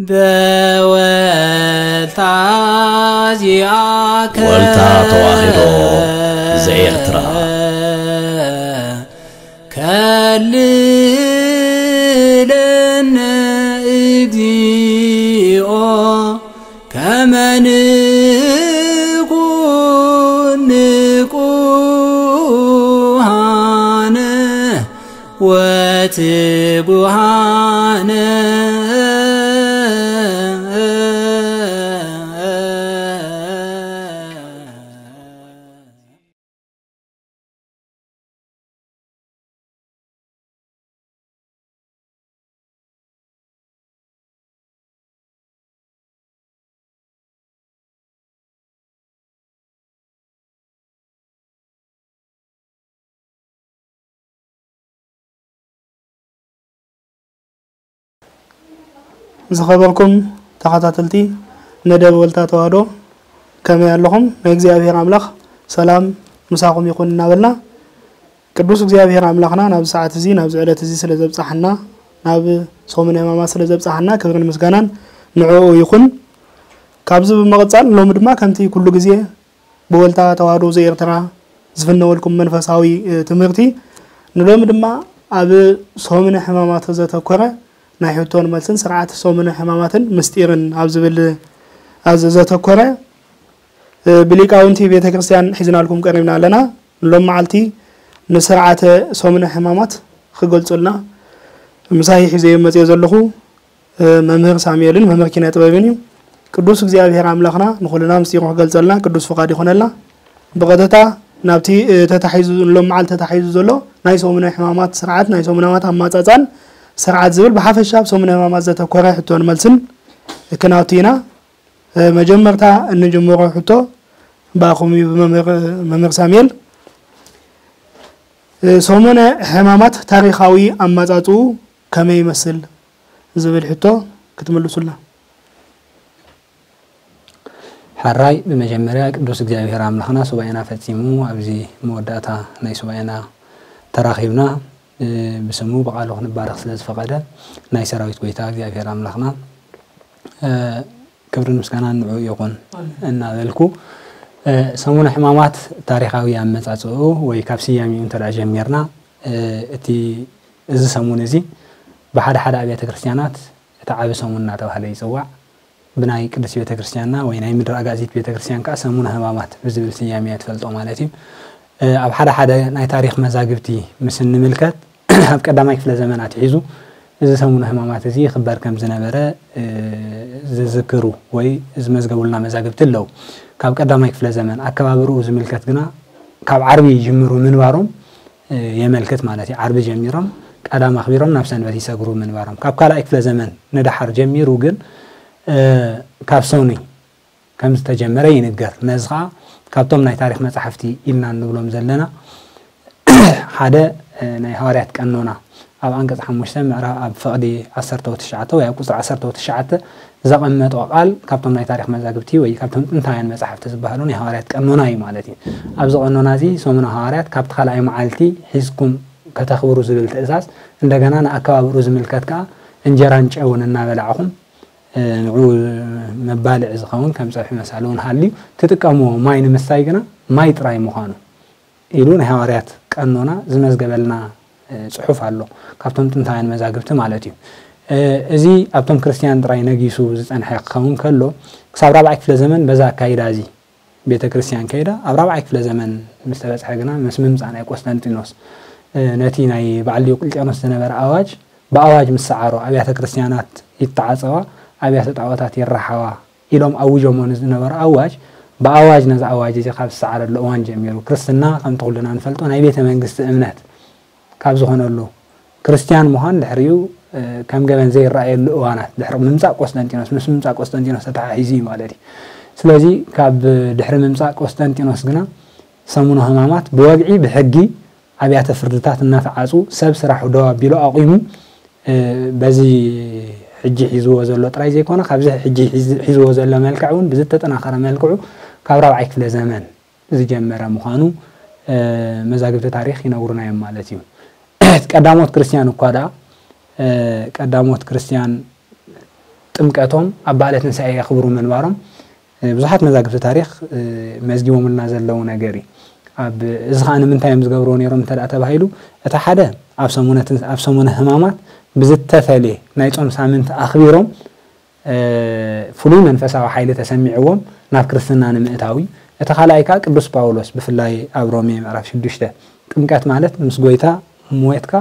በወልታ ዚኣከ ወልታ ተዋሕዶ ዘኤርትራ። ከልለነ እግዚኦ ከመ ንኩን ንቁሃነ ወትጉሃነ። ዝኸበርኩም ተኸታተልቲ መደብ ወልታ ተዋህዶ፣ ከመይ ኣለኹም? ናይ እግዚኣብሔር ኣምላኽ ሰላም ምሳኹም ይኹን እናበልና፣ ቅዱስ እግዚኣብሔር ኣምላኽና ናብዚ ሰዓት እዚ፣ ናብዚ ዕለት እዚ ስለ ዘብጻሕና፣ ናብ ሰሙነ ሕማማት ስለ ዘብጻሕና ክብርን ምስጋናን ንዕኡ ይኹን። ካብዚ ብምቕጻል ሎሚ ድማ ከምቲ ኩሉ ግዜ ብወልታ ተዋህዶ ዘኤርትራ ዝፍነወልኩም መንፈሳዊ፣ እ፣ ትምህርቲ፣ ንሎሚ ድማ ኣብ ሰሙነ ሕማማት ዘተኮረ ናይ ሕቶን መልስን ስርዓት ሰሙነ ሕማማትን ምስጢርን ኣብ ዝብል፣ ኣብ ዘተኮረ፣ እ፣ ብሊቃውንቲ ቤተ ክርስቲያን ሒዝናልኩም ቀሪብና ኣለና። ሎም መዓልቲ ንስርዓተ ሰሙነ ሕማማት ክገልጹልና ምሳይ ሒዘዮ መጽዮ ዘለኹ፣ እ፣ መምህር ሳሙኤልን መምህር ኪነ ጥበብን እዩ። ቅዱስ እግዚኣብሔር ኣምላኽና ንኹልና ምስጢሩ ክገልጸልና ቅዱስ ፍቓድ ይኾነልና። ብቐጥታ ናብቲ፣ እ፣ ተታሒዙ፣ ሎም መዓልቲ ተታሒዙ ዘሎ ናይ ሰሙነ ሕማማት ስርዓት፣ ናይ ሰሙነ ሕማማት ኣማጻጻን ስርዓት ዝብል ብሓፈሻ ኣብ ሰሙነ ሕማማት ዘተኮረ ሕቶን መልስን ክናቱ ኢና። እ፣ መጀመርታ እንጅምሮ ሕቶ ብኣኹም እዩ፣ ብመምህር፣ መምህር ሳሙኤል። እ፣ ሰሙነ ሕማማት ታሪኻዊ ኣማጻጽኡ ከመይ ይመስል ዝብል ሕቶ ክትምልሱልና። ሕራይ፣ ብመጀመርያ ቅዱስ እግዚኣብሔር ኣምላኽና ሱባኤና ፈጺሙ ኣብዚ መወዳእታ ናይ ሱባኤና ተራኺብና፣ እ፣ ብስሙ ብቓሉ ክንባረኽ ስለ ዝፈቐደ ናይ ሰራዊት ጐይታ እግዚኣብሔር ኣምላኽና፣ እ፣ ክብርን ምስጋናን ንዕኡ ይኹን እናበልኩ፣ እ፣ ሰሙነ ሕማማት ታሪኻዊ ኣመጻጽኡ ወይ ካብ ስያሜኡ እንተ ደኣ ጀሚርና፣ እ፣ እቲ፣ እዚ ሰሙን እዚ ብሓደ ሓደ ኣብያተ ክርስቲያናት እቲ ዓቢ ሰሙን እናተባህለ ይጽዋዕ። ብናይ ቅድስት ቤተ ክርስቲያንና ወይ ናይ ምድሪ ኣጋዚት ቤተ ክርስቲያን ከኣ ሰሙነ ሕማማት ብዝብል ስያሜ እያ ትፈልጦ ማለት እዩ። እ፣ ኣብ ሓደ ሓደ ናይ ታሪኽ መዛግብቲ ምስ እንምልከት፣ ኣብ ቀዳማይ ክፍለ ዘመን ኣትሒዙ እዚ ሰሙነ ሕማማት እዚ ይኽበር ከም ዝነበረ፣ እ፣ ዝዝክሩ ወይ ዝመዝገቡልና መዛግብቲ ኣለዉ። ካብ ቀዳማይ ክፍለ ዘመን ኣከባብርኡ ዝምልከት ግና ካብ ዓርቢ ይጅምሩ ምንባሮም፣ እ፣ የመልክት ማለት እዩ። ዓርቢ ጀሚሮም ቀዳም ኣኽቢሮም ናብ ሰንበት ይሰግሩ ምንባሮም። ካብ ካልኣይ ክፍለ ዘመን ንደሓር ጀሚሩ ግን፣ እ፣ ካብ ሰኑይ ከም ዝተጀመረ ይንገር። ነዚ ኸኣ ካብቶም ናይ ታሪኽ መጻሕፍቲ ኢልና እንብሎም ዘለና ሓደ፣ እ፣ ናይ ሃዋርያት ቀኖና ኣብ ኣንቀጽ ሓሙሽተ ምዕራፍ ኣብ ፍቕዲ ዓሰርተ ወትሽዓተ ወይ ኣብ ቁጽሪ ዓሰርተ ወትሽዓተ ዘቐመጦ ቃል ካብቶም ናይ ታሪኽ መዛግብቲ ወይ ካብቶም ጥንታውያን መጻሕፍቲ ዝበሃሉ ናይ ሃዋርያት ቀኖና እዩ ማለት እዩ። ኣብዚ ቀኖና እዚ ሰሙነ ሃዋርያት ካብቲ ካልኣይ መዓልቲ ሒዝኩም ከተኽብሩ ዝብል ትእዛዝ፣ እንደገና ንኣከባብሩ ዝምልከት ከኣ እንጀራን ጨውን እናበላዕኹም፣ እ፣ ንዑ መባልዒ ዝኸውን ከም ጸብሒ መሳሊ እውን ሃልዩ ትጥቀምዎ። ማይ ንምስታይ ግና ማይ ጥራይ ምዃኑ ኢሉ ናይ ሃዋርያት ቀኖና ዝመዝገበልና፣ እ፣ ጽሑፍ ኣሎ፣ ካብቶም ጥንታውያን መዛግብቲ ማለት እዩ። እ፣ እዚ ኣብቶም ክርስትያን ጥራይ ነጊሱ ዝጸንሐ ክኸውን ከሎ፣ ክሳብ ራብዓይ ክፍለ ዘመን በዛ ኣካይዳ እዚ ቤተ ክርስቲያን ከይዳ፣ ኣብ ራብዓይ ክፍለ ዘመን ምስ ተበጽሐ ግና ምስ ምምጻእ ናይ ቆስጠንጢኖስ፣ እ፣ ነቲ ናይ በዓል ዲዮቅልጥያኖስ ዝነበረ ኣዋጅ ብኣዋጅ ምስ ሰዓሮ፣ ኣብያተ ክርስቲያናት ይተዓጸዋ፣ ኣብያተ ጣዖታት ይረሓዋ ኢሎም ኣውጆሞ ንዝነበሩ ኣዋጅ፣ ብኣዋጅ ነዚ ኣዋጅ እዚ ካብ ዝሰዓረሉ እዋን ጀሚሩ፣ ክርስትና ከምቲ ኩልና ንፈልጦ ናይ ቤተ መንግስቲ እምነት ካብ ዝኾነሉ፣ ክርስትያን ምዃን ድሕሪኡ፣ እ፣ ከም ገበን ዘይረኣየሉ እዋናት፣ ድሕሪ ምምጻእ ቆስጠንጢኖስ፣ ምስ ምምጻእ ቆስጠንጢኖስ ተተሓሒዙ እዩ ማለት እዩ። ስለዚ ካብ ድሕሪ ምምጻእ ቆስጠንጢኖስ ግና ሰሙነ ሕማማት ብወግዒ ብሕጊ ኣብያተ ፍርድታት እናተዓጹ ሰብ ስራሑ ደው ኣቢሉ ኣቑሙ፣ እ፣ በዚ ሕጂ ሒዝዎ ዘሎ ጥራይ ዘይኮነ፣ ካብዚ ሕጂ ሒዝ-፣ ሒዝዎ ዘሎ መልክዕ እውን ብዝተጠናኸረ መልክዑ ካብ ራብዓይ ክፍለ ዘመን ዝጀመረ ምዃኑ፣ እ፣ መዛግብቲ ታሪኽ ይነግሩና እዮም ማለት እዩ። ቀዳሞት ክርስትያን እኳ ደኣ፣ እ፣ ቀዳሞት ክርስትያን ጥምቀቶም ኣብ በዓለ ትንሳኤ የኽብሩ ምንባሮም ብዙሓት መዛግብቲ ታሪኽ መዝጊቦምልና ዘለዉ ነገር እዩ። ኣብ እዚ ኸዓ ንምንታይ እዮም ዝገብርዎ ነይሮም እንተ ደኣ ተባሂሉ፣ እቲ ሓደ ኣብ ሰሙነ ትንስ-፣ ኣብ ሰሙነ ሕማማት ብዝተፈልየ ናይ ጾም ሳምንቲ ኣኽቢሮም ፍሉይ መንፈሳዊ ሓይሊ ተሰሚዕዎም ናብ ክርስትና ንምእታው እዩ። እቲ ካልኣይ ከኣ ቅዱስ ጳውሎስ ብፍላይ ኣብ ሮሜ ምዕራፍ ሽዱሽተ ጥምቀት ማለት ምስ ጎይታ ሞትካ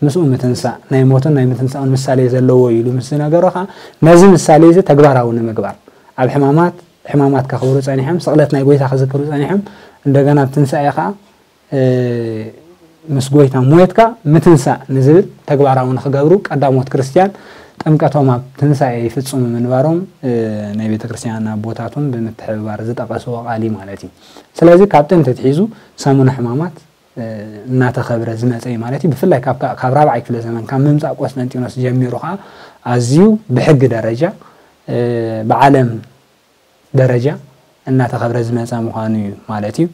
ምስኡ ምትንሳእ ናይ ሞትን ናይ ምትንሳኡን ምሳሌ ዘለዎ እዩ ኢሉ ምስ ዝነገሮ ከኣ ነዚ ምሳሌ እዚ ተግባራዊ ንምግባር ኣብ ሕማማት ሕማማት ከኽብሩ ጸኒሖም፣ ስቕለት ናይ ጎይታ ክዝክሩ ጸኒሖም፣ እንደገና ኣብ ትንሳኤ ከኣ ምስ ጎይታ ሞትካ ምትንሳእ ንዝብል ተግባራዊ ንኽገብሩ ቀዳሞት ክርስትያን ጥምቀቶም ኣብ ትንሳኤ ይፍጽሙ ምንባሮም ናይ ቤተ ክርስትያን ኣቦታት እውን ብምትሕብባር ዝጠቐስዎ ቃል እዩ ማለት እዩ። ስለዚ ካብ ጥንቲ ኣትሒዙ ሰሙነ ሕማማት እናተኸብረ ዝመጸ እዩ ማለት እዩ። ብፍላይ ካብ ካብ ራብዓይ ክፍለ ዘመን ካብ ምምጻእ ቆስጠንጢኖስ ጀሚሩ ከኣ ኣዝዩ ብሕጊ ደረጃ ብዓለም ደረጃ እናተኸብረ ዝመጸ ምዃኑ እዩ ማለት እዩ።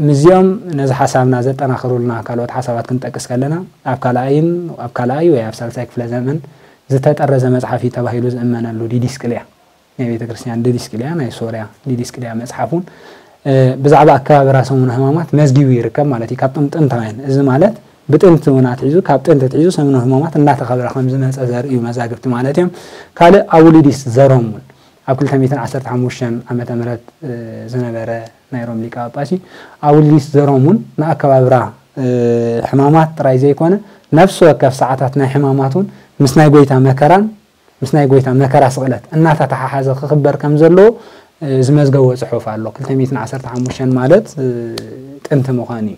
ምስዚኦም ነዚ ሓሳብና ዘጠናኽሩልና ካልኦት ሓሳባት ክንጠቅስ ከለና ኣብ ካልኣይን ኣብ ካልኣይ ወይ ኣብ ሳልሳይ ክፍለ ዘመን ዝተጠረዘ መጽሓፍ እዩ ተባሂሉ ዝእመነሉ ዲዲስቅልያ ናይ ቤተ ክርስቲያን ዲዲስቅልያ ናይ ሶርያ ዲዲስቅልያ መጽሓፍ እውን ብዛዕባ ኣከባብራ ሰሙነ ሕማማት መዝጊቡ ይርከብ ማለት እዩ። ካብቶም ጥንታውያን እዚ ማለት ብጥንቲ እውን ኣትሒዙ ካብ ጥንቲ ኣትሒዙ ሰሙነ ሕማማት እናተኸብረ ከም ዝመጸ ዘርእዩ መዛግብቲ ማለት እዮም። ካልእ ኣውሊዲስ ዘሮም እውን ኣብ ክልተ ሚእትን ዓሰርተ ሓሙሽተን ዓመተ ምህረት ዝነበረ ናይ ሮም ሊቀ ጳጳስ እዩ። ኣውሊዲስ ዘሮም እውን ንኣከባብራ ሕማማት ጥራይ ዘይኮነ ነፍሲ ወከፍ ሰዓታት ናይ ሕማማት እውን ምስ ናይ ጎይታ መከራን ምስ ናይ ጎይታ መከራ ስቕለት እናተተሓሓዘ ክኽበር ከም ዘለዎ ዝመዝገቦ ጽሑፍ ኣሎ። ክልተ ሚእትን ዓሰርተ ሓሙሽተን ማለት ጥንቲ ምዃኑ እዩ።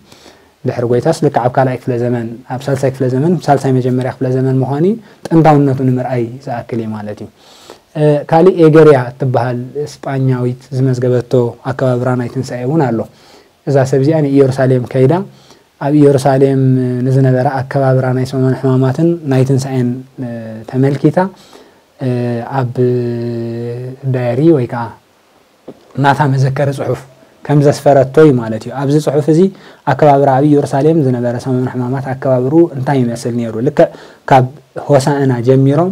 ድሕሪ ጎይታስ ልክዕ ኣብ ካልኣይ ክፍለ ዘመን ኣብ ሳልሳይ ክፍለ ዘመን ሳልሳይ መጀመርያ ክፍለ ዘመን ምዃኑ እዩ። ጥንታውነቱ ንምርኣይ ዝኣክል እዩ ማለት እዩ። ካልእ ኤገርያ እትበሃል ስጳኛዊት ዝመዝገበቶ ኣከባብራ ናይ ትንሳኤ እውን ኣሎ። እዛ ሰብ እዚኣ ንኢየሩሳሌም ከይዳ ኣብ ኢየሩሳሌም ንዝነበረ ኣከባብራ ናይ ሰሙን ሕማማትን ናይ ትንሳኤን ተመልኪታ ኣብ ዳየሪ ወይ ከዓ ናታ መዘከሪ ጽሑፍ ከም ዘስፈረቶ እዩ ማለት እዩ። ኣብዚ ጽሑፍ እዚ ኣከባብራ ኣብ ኢየሩሳሌም ዝነበረ ሰሙን ሕማማት ኣከባብሩ እንታይ ይመስል ነይሩ? ልክዕ ካብ ሆሳእና ጀሚሮም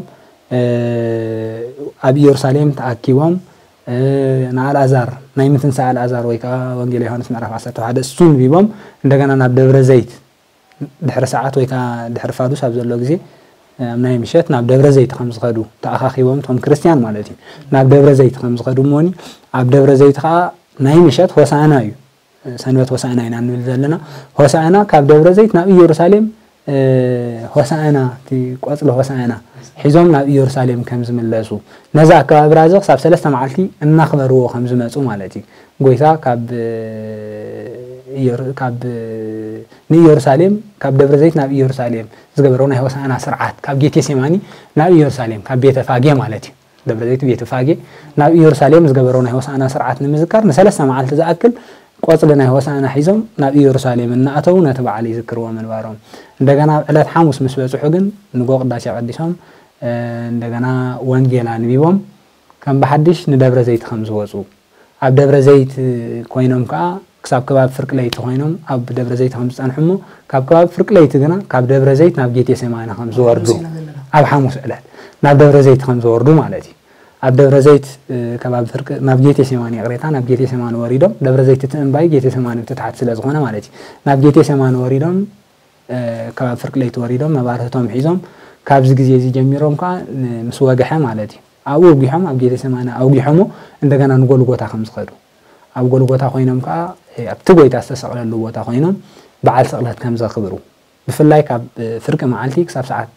ኣብ ኢየሩሳሌም ተኣኪቦም ንኣልኣዛር ናይ ምትንሳእ ኣልኣዛር ወይ ከዓ ወንጌል ዮሃንስ ምዕራፍ ዓሰርተ ሓደ እሱ ንቢቦም እንደገና ናብ ደብረ ዘይት ድሕሪ ሰዓት ወይ ከዓ ድሕሪ ፋዱስ ኣብ ዘሎ ግዜ ኣብ ናይ ምሸት ናብ ደብረ ዘይት ከም ዝኸዱ ተኣኻኺቦም እቶም ክርስትያን ማለት እዩ። ናብ ደብረ ዘይት ከም ዝኸዱ እሞኒ ኣብ ደብረ ዘይት ከዓ ናይ ምሸት ሆሳእና እዩ። ሰንበት ሆሳእና ኢና ንብል ዘለና። ሆሳእና ካብ ደብረ ዘይት ናብ ኢየሩሳሌም ሆሳእና እቲ ቆጽሊ ሆሳእና ሒዞም ናብ ኢየሩሳሌም ከም ዝምለሱ ነዚ ኣከባብራ እዚ ክሳብ ሰለስተ መዓልቲ እናኽበርዎ ከም ዝመፁ ማለት እዩ። ጎይታ ካብ ካብ ንኢየሩሳሌም ካብ ደብረ ዘይት ናብ ኢየሩሳሌም ዝገበረው ናይ ሆሳእና ስርዓት ካብ ጌቴሴማኒ ናብ ኢየሩሳሌም ካብ ቤተ ፋጌ ማለት እዩ። ደብረ ዘይት ቤተ ፋጌ ናብ ኢየሩሳሌም ዝገበረው ናይ ሆሳእና ስርዓት ንምዝካር ንሰለስተ መዓልቲ ዝኣክል ቆጽሊ ናይ ሆሳእና ሒዞም ናብ ኢየሩሳሌም እናኣተው ነቲ በዓል ይዝክርዎ ምንባሮም። እንደገና ኣብ ዕለት ሓሙስ ምስ በጽሑ ግን ንጎ ቅዳሴ ቀዲሶም እንደገና ወንጌል ኣንቢቦም ከም ብሓድሽ ንደብረ ዘይት ከም ዝወፁ ኣብ ደብረ ዘይት ኮይኖም ከዓ ክሳብ ከባቢ ፍርቂ ለይቲ ኮይኖም ኣብ ደብረ ዘይት ከም ዝፀንሑ እሞ ካብ ከባቢ ፍርቂ ለይቲ ግና ካብ ደብረ ዘይት ናብ ጌቴሴማኒ ከም ዝወርዱ ኣብ ሓሙስ ዕለት ናብ ደብረ ዘይት ከም ዝወርዱ ማለት እዩ። ኣብ ደብረ ዘይት ከባቢ ፍርቂ ናብ ጌቴሴማኒ ይቕሬታ ናብ ጌቴሴማኒ ወሪዶም ደብረ ዘይት እቲ እምባይ ጌቴሴማኒ ብትታሕቲ ስለ ዝኾነ ማለት እዩ ናብ ጌቴሴማኒ ወሪዶም ከባቢ ፍርቂ ለይቲ ወሪዶም መባርህቶም ሒዞም ካብዚ ግዜ እዚ ጀሚሮም ከዓ ምስ ወግሐ ማለት እዩ ኣብኡ ኣውጊሖም ኣብ ጌቴሴማኒ ኣውጊሖሞ እንደገና ንጎልጎታ ከም ዝኸዱ ኣብ ጎልጎታ ኮይኖም ከዓ ኣብቲ ጎይታ ዝተሰቕለሉ ቦታ ኮይኖም በዓል ስቕለት ከም ዘኽብሩ ብፍላይ ካብ ፍርቂ መዓልቲ ክሳብ ሰዓት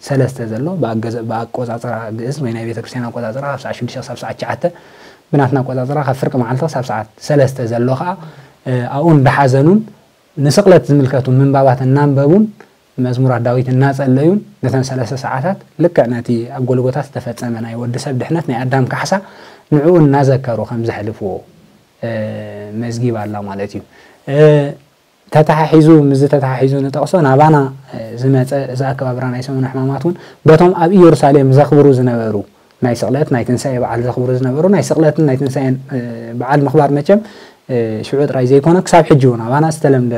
ሰለስተ ዘሎ ብኣቆፃፅራ ግእዝ ወይ ናይ ቤተክርስትያን ኣቆፃፅራ ካብ ሰዓት ሽዱሽተ ክሳብ ሰዓት ትሽዓተ ብናትና ኣቆፃፅራ ካብ ፍርቂ መዓልቲ ክሳብ ሰዓት ሰለስተ ዘሎ ከዓ ኣብኡ እንዳሓዘኑን ንስቕለት ዝምልከቱ ምንባባት እናንበቡን መዝሙራት ዳዊት እናጸለዩን ነተን ሰለስተ ሰዓታት ልክዕ ነቲ ኣብ ጎልጎታ ዝተፈጸመ ናይ ወዲ ሰብ ድሕነት ናይ ኣዳም ካሕሳ ንዕኡ እናዘከሩ ከም ዘሕልፍዎ መዝጊብ ኣላ ማለት እዩ። ተተሓሒዙ ምስዚ ተተሓሒዙ ንጠቕሶ ናባና ዝመጸ እዚ ኣከባብራ ናይ ሰሙነ ሕማማት እውን በቶም ኣብ ኢየሩሳሌም ዘኽብሩ ዝነበሩ ናይ ስቕለት ናይ ትንሳኤ በዓል ዘኽብሩ ዝነበሩ ናይ ስቕለትን ናይ ትንሳኤን በዓል ምኽባር መቸም ሽዑ ጥራይ ዘይኮነ ክሳብ ሕጂ እውን ኣባና ዝተለምደ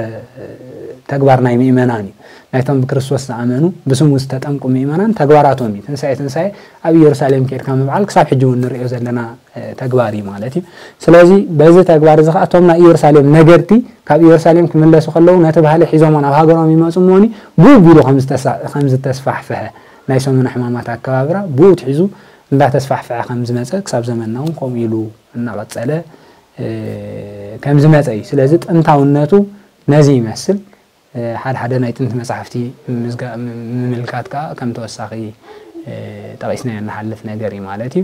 ተግባር ናይ ምእመናን እዩ። ናይቶም ብክርስቶስ ዝኣመኑ ብስሙ ዝተጠምቁ ምእመናን ተግባራቶም እዩ። ትንሳኤ ትንሳኤ ኣብ ኢየሩሳሌም ከድካ ምብዓል ክሳብ ሕጂ እውን ንሪኦ ዘለና ተግባር እዩ ማለት እዩ። ስለዚ በዚ ተግባር እዚ ከዓ እቶም ናይ ኢየሩሳሌም ነገድቲ ካብ ኢየሩሳሌም ክምለሱ ከለዉ ነቲ ባህሊ ሒዞሞ ናብ ሃገሮም ይመፁ እሞኒ ብኡ ቢሉ ከም ዝተስፋሕፍሐ ናይ ሰሙነ ሕማማት ኣከባብራ ብኡ ትሒዙ እንዳተስፋሕፍሐ ከም ዝመፀ ክሳብ ዘመንና እውን ከምኡ ኢሉ እናቐፀለ ከም ዝመፀ እዩ። ስለዚ ጥንታውነቱ ነዚ ይመስል። ሓደ ሓደ ናይ ጥንቲ መጻሕፍቲ ምምልካት ከኣ ከም ተወሳኺ ጠቒስናዮ እንሓልፍ ነገር እዩ ማለት እዩ።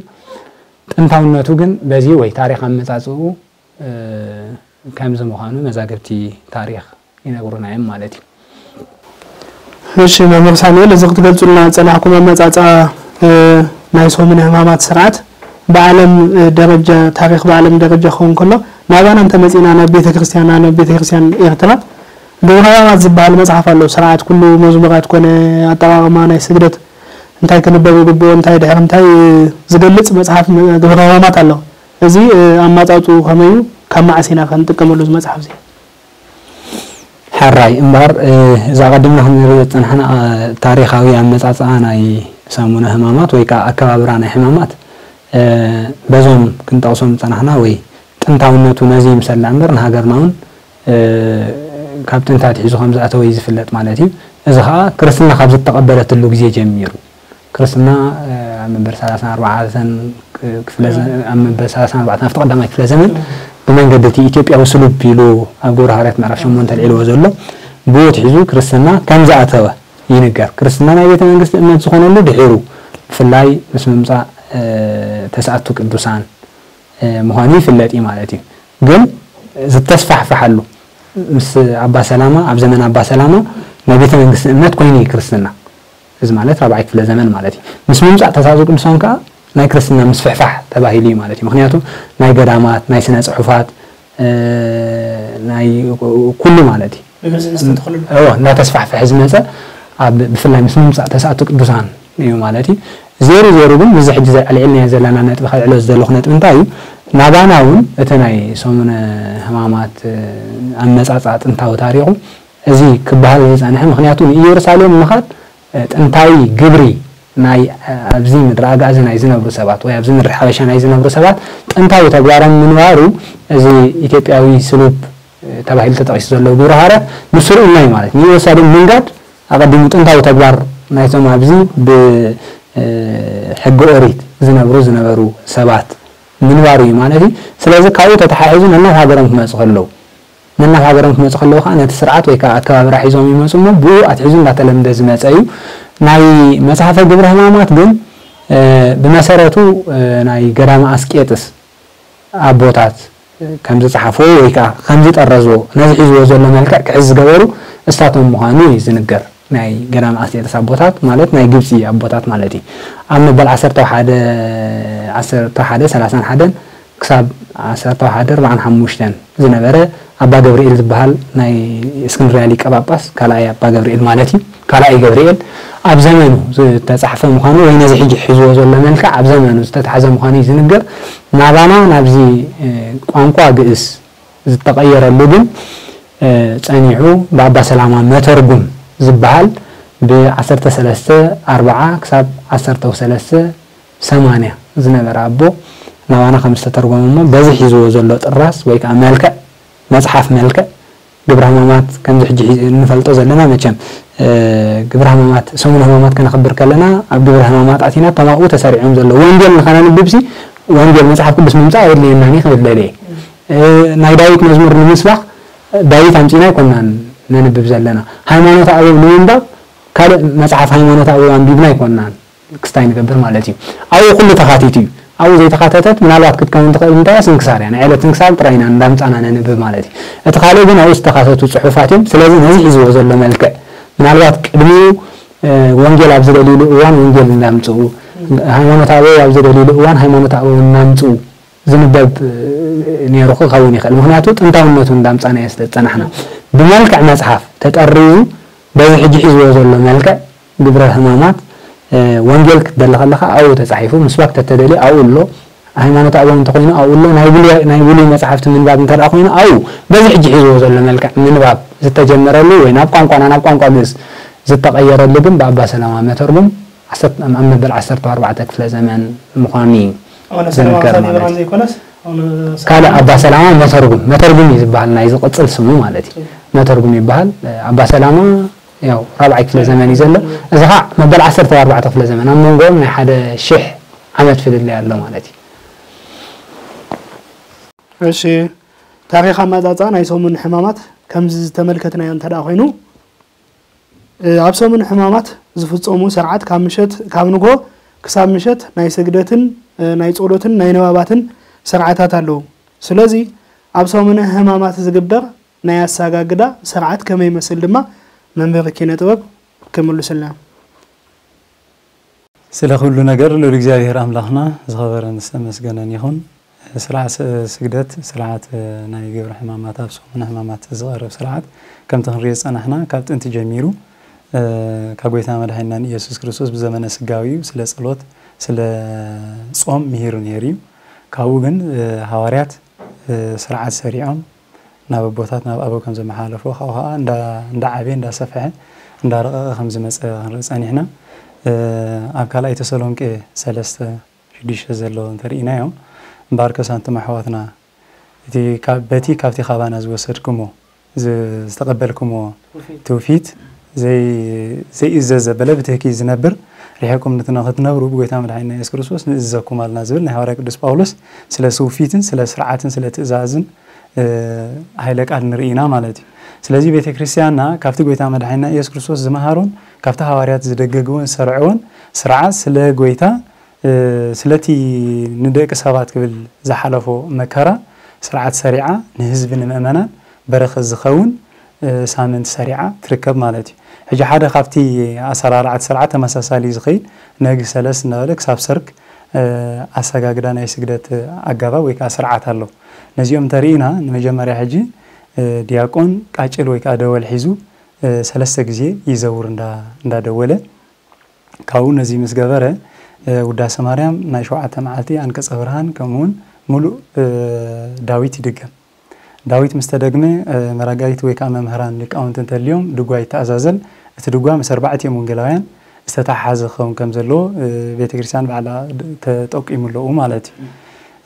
ጥንታውነቱ ግን በዚ ወይ ታሪኽ ኣመጻጽኡ ከምዚ ምዃኑ መዛግብቲ ታሪኽ ይነግሩና እዮም ማለት እዩ። እሺ መምህር ሳሙኤል፣ እዚ ክትገልጹልና ጸናሕኩም ኣመጻጽኣ ናይ ሰሙነ ሕማማት ስርዓት ብዓለም ደረጃ፣ ታሪኽ ብዓለም ደረጃ ክኸውን ከሎ፣ ናባና እንተመጺእና ናብ ቤተ ክርስቲያንና፣ ናብ ቤተ ክርስቲያን ኤርትራ ግብረ ሕማማት ዝበሃል መጽሓፍ ኣሎ። ስርዓት ኩሉ መዝሙራት ኮነ ኣጠቓቕማ ናይ ስግደት እንታይ ክንበብ ይግብኦ፣ እንታይ ድሕሪ እንታይ ዝገልጽ መጽሓፍ ግብረ ሕማማት ኣሎ። እዚ ኣማጻጽኡ ከመይ እዩ? ካብ መዓስ ኢና ከ ንጥቀመሉ እዚ መጽሓፍ እዚ? ሕራይ እምበኣር እዚ ኣቐዲምና ክንሪኦ ዝጸናሕና ታሪኻዊ ኣመጻጽኣ ናይ ሰሙነ ሕማማት ወይ ከዓ ኣከባብራ ናይ ሕማማት በዞም ክንጠቕሶም ዝጸናሕና ወይ ጥንታውነቱ ነዚ ይምሰል ደኣ እምበር ንሃገርና እውን ካብ ጥንቲ ኣትሒዙ ከም ዝኣተወ እዩ ዝፍለጥ ማለት እዩ። እዚ ከዓ ክርስትና ካብ ዝተቐበለትሉ ግዜ ጀሚሩ ክርስትና ኣብ መበል ሰላሳን ኣርባዕተን ክፍለ ዘ- ኣብ መበል ሰላሳን ኣርባዕተን ኣብቲ ቀዳማይ ክፍለ ዘመን ብመንገዲ እቲ ኢትዮጵያዊ ስሉብ ኢሉ ኣብ ግብረ ሃዋርያት ምዕራፍ ሸሞንተ ኣልዒልዎ ዘሎ ብኡ ኣትሒዙ ክርስትና ከም ዝኣተወ ይንገር። ክርስትና ናይ ቤተ መንግስቲ እምነት ዝኾነሉ ድሒሩ ብፍላይ ምስ ምምፃእ ተስኣቱ ቅዱሳን ምዃኑ ይፍለጥ እዩ ማለት እዩ። ግን ዝተስፋሕፈሓሉ ምስ ኣባ ሰላማ ኣብ ዘመን ኣባ ሰላማ ናይ ቤተ መንግስቲ እምነት ኮይኑ እዩ ክርስትና። እዚ ማለት ራብዓይ ክፍለ ዘመን ማለት እዩ። ምስ ምምፃእ ተስኣቱ ቅዱሳን ከዓ ናይ ክርስትና ምስፍሕፋሕ ተባሂሉ እዩ ማለት እዩ። ምክንያቱ ናይ ገዳማት፣ ናይ ስነ ፅሑፋት፣ ናይ ኩሉ ማለት እዩ። እዎ እንዳተስፋሕፈሐ ዝመፀ ኣብ ብፍላይ ምስ ምምፃእ ተስኣቱ ቅዱሳን እዩ ማለት እዩ። ዜሩ ዜሩ ግን ምስዚ ሕጂ ኣልዒልናዮ ዘለና ነጥቢ ከልዕሎ ዝደለኹ ነጥቢ እንታይ እዩ? ናባና እውን እቲ ናይ ሰሙነ ሕማማት ኣመፃፅኣ ጥንታዊ ታሪኹ እዚ ክበሃል ዝፀንሐ ምክንያቱ ንኢየሩሳሌም ምኻድ ጥንታዊ ግብሪ ናይ ኣብዚ ምድሪ ኣጋዚ ናይ ዝነብሩ ሰባት ወይ ኣብዚ ምድሪ ሓበሻ ናይ ዝነብሩ ሰባት ጥንታዊ ተግባሮም ምንባሩ እዚ ኢትዮጵያዊ ስሉብ ተባሂሉ ተጠቒሱ ዘሎ ግብረ ሃዋርያት ንሱ ርኢና እዩ ማለት ንኢየሩሳሌም ምንጋድ ኣቐዲሙ ጥንታዊ ተግባር ናይቶም ኣብዚ ብሕጊ ኦሪት ዝነብሩ ዝነበሩ ሰባት ምንባሩ እዩ ማለት እዩ። ስለዚ ካብኡ ተተሓሒዙ ነናብ ሃገሮም ክመፁ ከለዉ ነናብ ሃገሮም ክመፁ ከለዉ ከዓ ነቲ ስርዓት ወይ ከዓ ኣከባብራ ሒዞም ይመፁ እሞ ብኡ ኣትሒዙ እንዳተለምደ ዝመፀ እዩ። ናይ መፅሓፈ ግብረ ሕማማት ግን ብመሰረቱ ናይ ገዳመ ኣስቄጥስ ኣቦታት ከም ዝፀሓፍዎ ወይ ከዓ ከም ዝጠረዝዎ ነዚ ሒዝዎ ዘሎ መልክዕ ክሕዝ ዝገበሩ እሳቶም ምዃኑ እዩ ዝንገር። ናይ ገዳም ኣስቄጥስ ኣቦታት ማለት ናይ ግብፂ ኣቦታት ማለት እዩ። ኣብ መበል ዓሰርተ ሓደ ዓሰርተ ሓደ ሰላሳን ሓደን ክሳብ ዓሰርተ ሓደ ኣርባዓን ሓሙሽተን ዝነበረ ኣባ ገብርኤል ዝበሃል ናይ እስክንድርያ ሊቀ ጳጳስ ካልኣይ ኣባ ገብርኤል ማለት እዩ። ካልኣይ ገብርኤል ኣብ ዘመኑ ዝተፃሕፈ ምዃኑ ወይ ነዚ ሕጂ ሒዝዎ ዘሎ መልክዕ ኣብ ዘመኑ ዝተታሕዘ ምዃኑ እዩ ዝንገር። ናባና ናብዚ ቋንቋ ግእዝ ዝተቐየረሉ ግን ጸኒሑ ብኣባ ሰላማ መተርጉም ዝበሃል ብ ዓሰርተ ሰለስተ ኣርብዓ ክሳብ ዓሰርተ ሰለስተ ሰማንያ ዝነበረ ኣቦ ናባና ከም ዝተተርጎመ እሞ በዚ ሒዝዎ ዘሎ ጥራዝ ወይ ከዓ መልክዕ መፅሓፍ መልክዕ ግብረ ሕማማት ከምዚ ሕጂ ሒ- እንፈልጦ ዘለና መቸም ግብረ ሕማማት ሰሙነ ሕማማት ከነኽብር ከለና ኣብ ግብረ ሕማማት ኣቲና እቶም ኣብኡ ተሰሪዖም ዘለዉ ወንጌል ንኸነንብብሲ ወንጌል መፅሓፍ ቅዱስ ምምፃእ ኣየድልየናን እዩ ክብል ደልየ ናይ ዳዊት መዝሙር ንምስባኽ ዳዊት ኣምፂና ኣይኮናን ነንብብ ዘለና ሃይማኖት ኣበው ንምንባብ ካልእ መፅሓፍ ሃይማኖት ኣበው ኣንቢብና ኣይኮናን ክስታይ ንገብር ማለት እዩ ኣብኡ ኩሉ ተኻቲቱ እዩ ኣብኡ ዘይተኻተተት ምናልባት ክትከውን ትኽእል እንታይ ስንክሳር እያ ናይ ዕለት ስንክሳር ጥራይ ኢና እንዳምፃና ነንብብ ማለት እዩ እቲ ካልእ ግን ኣብኡ ዝተኻተቱ ፅሑፋት እዮም ስለዚ ነዚ ሒዝዎ ዘሎ መልክዕ ምናልባት ቅድሚኡ ወንጌል ኣብ ዝደልይሉ እዋን ወንጌል እንዳምፅኡ ሃይማኖት ኣበው ኣብ ዝደልይሉ እዋን ሃይማኖት ኣበው እናምፅኡ ዝንበብ ነይሩ ክኸውን ይኽእል። ምኽንያቱ ጥንታውነቱ እንዳምጻናዮ ስለ ዝጸናሕና። ብመልክዕ መጽሓፍ ተጠሪዙ በዚ ሕጂ ሒዝዎ ዘሎ መልክዕ ግብረ ሕማማት ወንጌል ክትደሊ ከለኻ ኣብኡ ተጻሒፉ ምስባክ ተተደልየ ኣብኡ ኣሎ። ሃይማኖት ኣበው እንተኾይኑ ኣብኡ ኣሎ። ናይ ብሉይ ናይ ብሉይ መጽሓፍቲ ምንባብ እንተ ደኣ ኮይኑ ኣብኡ በዚ ሕጂ ሒዝዎ ዘሎ መልክዕ ምንባብ ዝተጀመረሉ ወይ ናብ ቋንቋና ናብ ቋንቋ ግእዝ ዝተቐየረሉ ግን ብኣባ ሰላማ መተርጉም ዓሰርተ ኣብ መበል ዓሰርተ ኣርባዕተ ክፍለ ዘመን ምዃኑ እዩ ኣነ ሰለማ ዝንገር ሳዲ ማለት ብርሃን እዩ። ዘይኮነስ ኣነ ካልእ ኣባ ሰላማ መተርጉም መተርጉም እዩ ዝበሃል ናይ ዝቕጽል ስሙ ማለት እዩ። መተርጉም ይበሃል። ኣባ ሰላማ ያው ራብዓይ ክፍለ ዘመን እዩ ዘሎ። እዚ ኸዓ መበል ዓሰርተ ኣርባዕተ ክፍለ ዘመን ኣብ መንጎኦም ናይ ሓደ ሽሕ ዓመት ፍልልይ ኣሎ ማለት እዩ። እሺ፣ ታሪኽ ኣመጻጽኣ ናይ ሰሙን ሕማማት ከምዚ ዝተመልከትናዮ እንተ ደኣ ኮይኑ፣ እ፣ ኣብ ሰሙን ሕማማት ዝፍጸሙ ስርዓት ካብ ምሸት ካብ ንግሆ ክሳብ ምሸት ናይ ስግደትን እ፣ ናይ ጸሎትን ናይ ንባባትን ስርዓታት ኣለዉ። ስለዚ ኣብ ሰሙነ ሕማማት ዝግበር ናይ ኣሳጋግዳ ስርዓት ከመይ ይመስል ድማ መምህር ኪነ ጥበብ ክምልሱልና እዮም። ስለ ኩሉ ነገር ልዑል እግዚኣብሔር ኣምላኽና ዝኸበረን ዝተመስገነን ይኹን። ስርዓት ስ- ስግደት ስርዓት ናይ ግብሪ ሕማማት ኣብ ሰሙነ ሕማማት ዝቐርብ ስርዓት ከምቲ ክንሪኦ ዝጸናሕና ካብ ጥንቲ ጀሚሩ እ፣ ካብ ጎይታ መድሓኒና ኢየሱስ ክርስቶስ ብዘመነ ስጋዊኡ ስለ ጸሎት ስለ ጾም ምሂሩ ነይሩ እዩ። ካብኡ ግን እ፣ ሃዋርያት እ፣ ስርዓት ሰሪዖም ናብ ኣቦታት ናብ ኣበው ከም ዘመሓላለፍዎ ካብኡ ከዓ እንዳ እንዳ ዓበየ እንዳ ሰፍሐ እንዳ ረቐቐ ከም ዝመጸ ክንርኢ ጸኒሕና። እ፣ ኣብ ካልኣይ ተሰሎንቄ ሰለስተ ሽዱሽተ ዘሎ እንተርኢናዮ እምበኣርከስ ኣንቱም ኣሕዋትና እቲ ካብ በቲ ካብቲ ካባና ዝወሰድኩሞ ዝ- ዝተቐበልኩሞ ትውፊት ዘይ ዘይእዘዝ ዘበለ ብትህኪ ዝነብር ርሒቕኩም ንትነ- ክትነብሩ ብጎይታ መድሓኒና የሱስ ክርስቶስ ንእዝዘኩም ኣልና ዝብል ናይ ሃዋርያ ቅዱስ ጳውሎስ ስለ ስውፊትን ስለ ስርዓትን ስለ ትእዛዝን እ፣ ሃይለ ቃል ንርኢ ኢና ማለት እዩ። ስለዚ ቤተ ክርስቲያንና ካብቲ ጎይታ መድሓኒና ኢየሱስ ክርስቶስ ዝመሃሮን ካብቲ ሃዋርያት ዝደገግዎን ዝሰርዕዎን ስርዓት ስለ ጎይታ እ፣ ስለቲ ንደቂ ሰባት ክብል ዝሓለፎ መከራ ስርዓት ሰሪዓ ንህዝቢ ንምእመናን በረኸት ዝኸውን እ፣ ሳምንት ሰሪዓ ትርከብ ማለት እዩ። ሕጂ ሓደ ካብቲ ኣሰራርዓት ስርዓት ተመሳሳሊ ዝኸይድ ነግህ ሰለስት እናበለ ክሳብ ሰርክ እ፣ ኣሰጋግዳ ናይ ስግደት ኣገባብ ወይ ከዓ ስርዓት ኣሎ። ነዚኦም እንተርኢና ንመጀመርያ ሕጂ እ፣ ዲያቆን ቃጭል ወይ ከዓ ደወል ሒዙ እ፣ ሰለስተ ግዜ ይዘውር እንዳ- እንዳደወለ ካብኡ ነዚ ምስ ገበረ እ፣ ውዳሴ ማርያም ናይ ሸውዓተ መዓልቲ ኣንቀጸ ብርሃን ከምኡውን ሙሉእ እ፣ ዳዊት ይድገም። ዳዊት ምስ ተደግመ እ፣ መራጋይት ወይ ከዓ መምህራን ሊቃውንቲ እንተልዮም ድጓ ይተኣዛዘል። እቲ ድጓ ምስ ኣርባዕቲኦም ወንጌላውያን ዝተተሓሓዘ ክኸውን ከም ዘለዎ እ፣ ቤተ ክርስቲያን ባዕላ ድ- ተጠቂሙ ኣለዉ ማለት እዩ።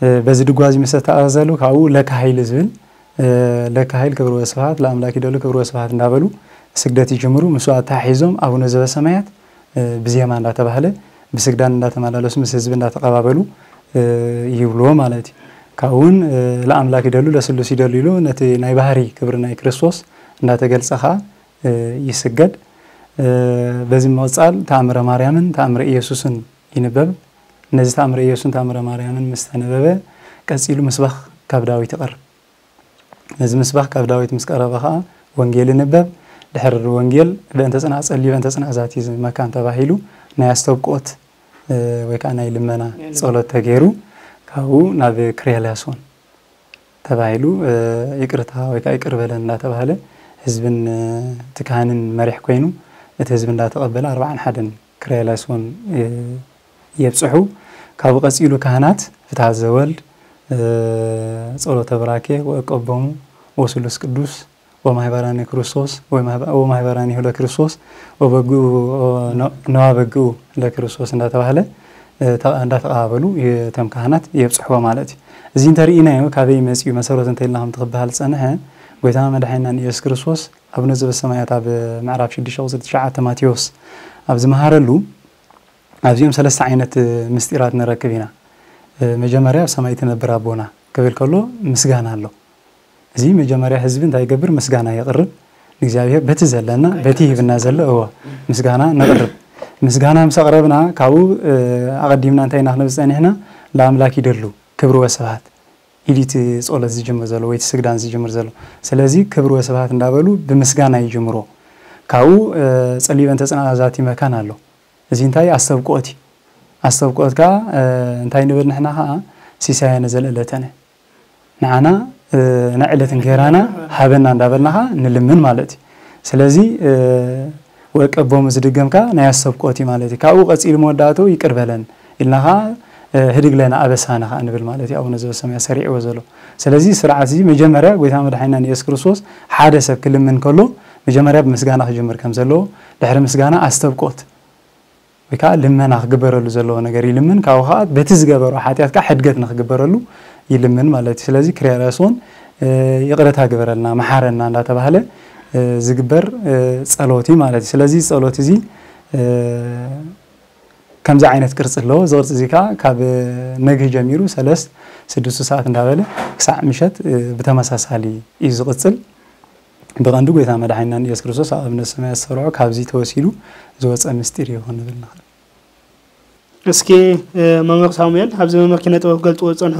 እ፣ በዚ ድጓ እዚ ምስ ተተኣዛዘሉ ካብኡ ለካ ኃይል ዝብል እ፣ ለካ ኃይል ክብር ወስብሐት ለአምላክ ይደሉ ክብር ወስብሐት እንዳበሉ ስግደት ይጅምሩ። ምስኡ ኣተሓሒዞም ኣቡነ ዘበሰማያት እ፣ ብዜማ እንዳተባህለ ብስግዳን እንዳተመላለሱ ምስ ህዝቢ እንዳተቐባበሉ እ፣ ይብልዎ ማለት እዩ። ካብኡ እውን እ፣ ለአምላክ ይደሉ ለስሉስ ይደሉ ኢሉ ነቲ ናይ ባህሪ ክብሪ ናይ ክርስቶስ እንዳተገልጸ ከዓ እ፣ ይስገድ። እ፣ በዚ ምቕጻል ተኣምረ ማርያምን ተኣምረ ኢየሱስን ይንበብ። ነዚ ተኣምረ ኢየሱስን ተኣምረ ማርያምን ምስ ተነበበ ቀጺሉ ምስባኽ ካብ ዳዊት ይቐርብ። ነዚ ምስባኽ ካብ ዳዊት ምስ ቀረበ ኸዓ ወንጌል ይንበብ። ድሕሪ ወንጌል በእንተ ጽንዓ ጸልዩ በእንተ ጽንዓ ዛቲ መካን ተባሂሉ ናይ ኣስተብቆት እ፣ ወይ ከዓ ናይ ልመና ጸሎት ተገይሩ ካብኡ ናብ ክርያላሶን ተባሂሉ እ፣ ይቅርታ ወይ ከዓ ይቅር በለን እንዳተባሃለ ህዝብን እ፣ እቲ ካህንን መሪሕ ኮይኑ እቲ ህዝቢ እንዳተቐበለ ኣርባዓን ሓደን ክርያላሶን እ፣ የብፅሑ። ካብኡ ቀፂሉ ካህናት ፍትሐ ዘወልድ እ፣ ጸሎተ ብራኬ ወእቀቦሙ ወስሉስ ቅዱስ ወማህበራኒ ክርስቶስ ወማህበ- ወማህበራኒሁ ለክርስቶስ ወበግኡ ነዋ በግኡ ለክርስቶስ እንዳተባህለ እ፣ ተ- እንዳተቐባበሉ እቶም ካህናት የብፅሕዎ ማለት እዩ። እዚ እንተርኢናዮ ካበይ መፂኡ መሰረቱ እንተኢልና ከምቲ ክበሃል ዝፀንሐ ጎይታና መድሓኒና ንኢየሱስ ክርስቶስ ኣቡነ ዘበሰማያት ኣብ ምዕራፍ ሽዱሽተ ቁፅሪ ትሽዓተ ማቴዎስ ኣብ ዝመሃረሉ ኣብዚኦም ሰለስተ ዓይነት ምስጢራት ንረክብ ኢና። እ፣ መጀመርያ ኣብ ሰማይ ትነብር ኣቦና ክብል ከሎ ምስጋና ኣሎ። እዚ መጀመርያ ህዝቢ እንታይ ይገብር? ምስጋና የቕርብ ንእግዚኣብሔር በቲ ዘለና በቲ ሂብና ዘሎ እዎ ምስጋና ነቕርብ። ምስጋና ምስ ኣቕረብና ካብኡ እ፣ ኣቐዲምና እንታይ ኢና ክንብል ዝጸኒሕና? ለኣምላክ ይደሉ ክብሪ ወስብሃት ኢሉ እቲ ጸሎት ዝጅምር ዘሎ ወይ እቲ ስግዳን ዝጅምር ዘሎ። ስለዚ ክብሪ ወስብሃት እንዳበሉ ብምስጋና ይጅምሮ። ካብኡ እ፣ ጸልዩ በእንተ ጽንዓት ዛቲ መካን ኣሎ። እዚ እንታይ ኣስተብቅኦት እዩ። ኣስተብቅኦት ከዓ እ፣ እንታይ ንብል ንሕና ከዓ ሲሳየነ ዘለእለተነ ንዓና እ፣ ናይ ዕለት እንጌራና ሃበና እንዳበልና ከዓ ንልምን ማለት እዩ። ስለዚ እ፣ ወቀቦም እዚ ድገም ከዓ ናይ ኣስተብቅኦት እዩ ማለት እዩ። ካብኡ ቀፂሉ መወዳእትኡ ይቅር በለን ኢልና ከዓ ህድግ ለነ ኣበሳነ ከዓ ንብል ማለት እዩ። ኣቡነ ዘበሰማያት ሰሪዕዎ ዘሎ። ስለዚ ስርዓት እዚ መጀመርያ ጎይታ መድሓኒና ንየሱስ ክርስቶስ ሓደ ሰብ ክልምን ከሎ መጀመርያ ብምስጋና ክጅምር ከም ዘለዎ፣ ድሕሪ ምስጋና ኣስተብቆት ወይ ከዓ ልመና ክግበረሉ ዘለዎ ነገር ይልምን። ካብኡ ከዓ በቲ ዝገበሮ ሓጢኣት ከዓ ሕድገት ንክግበረሉ ይልምን ማለት እዩ። ስለዚ ክሪያላሶን ይቕረታ ግበረልና፣ መሓረና እንዳተባህለ ዝግበር ጸሎት እዩ ማለት እዩ። ስለዚ ጸሎት እዚ ከምዚ ዓይነት ቅርጺ ኣለዎ። እዚ ቅርጺ እዚ ከዓ ካብ ነግህ ጀሚሩ ሰለስት ስድስቱ ሰዓት እንዳበለ ክሳዕ ምሸት ብተመሳሳሊ እዩ ዝቕጽል። ብቐንዱ ጎይታ መድሓኒና ኢየሱስ ክርስቶስ ኣብ ኣብነት ሰማያት ዝሰርዖ ካብዚ ተወሲዱ ዝወፀ ምስጢር እዩ ክንብል ንኽእል። እስኪ መምህር ሳሙኤል፣ ኣብዚ መምህር ኪነ ጥበብ ክገልፅዎ ዝፀንሑ